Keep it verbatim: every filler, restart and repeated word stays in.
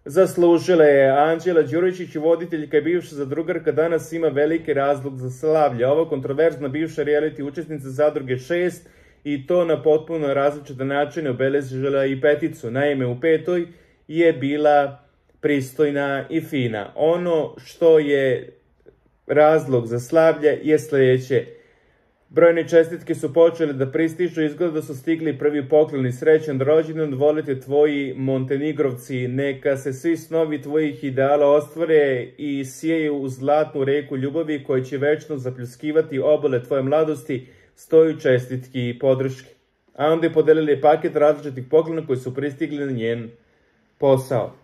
zaslužila je. Anđela Đuričić, voditeljka i bivša zadrugarka, danas ima veliki razlog za slavlje. Ova kontroverzna bivša reality učesnica Zadruge šest i to na potpuno različite načine obeležila i peticu. Naime, u petoj je bila pristojna i fina. Ono što je razlog za slavlje je sljedeće. Brojne čestitke su počele da pristižu, izgleda da su stigli prvi pokloni. Srećan rođendan, volite tvoji Montenegrovci, neka se svi snovi tvojih ideala ostvare i sijeju u zlatnu reku ljubavi koja će večno zapljuskivati obale tvoje mladosti, stoju čestitki i podrške. A onda je podelili paket različitih poklona koji su pristigli na njen posao.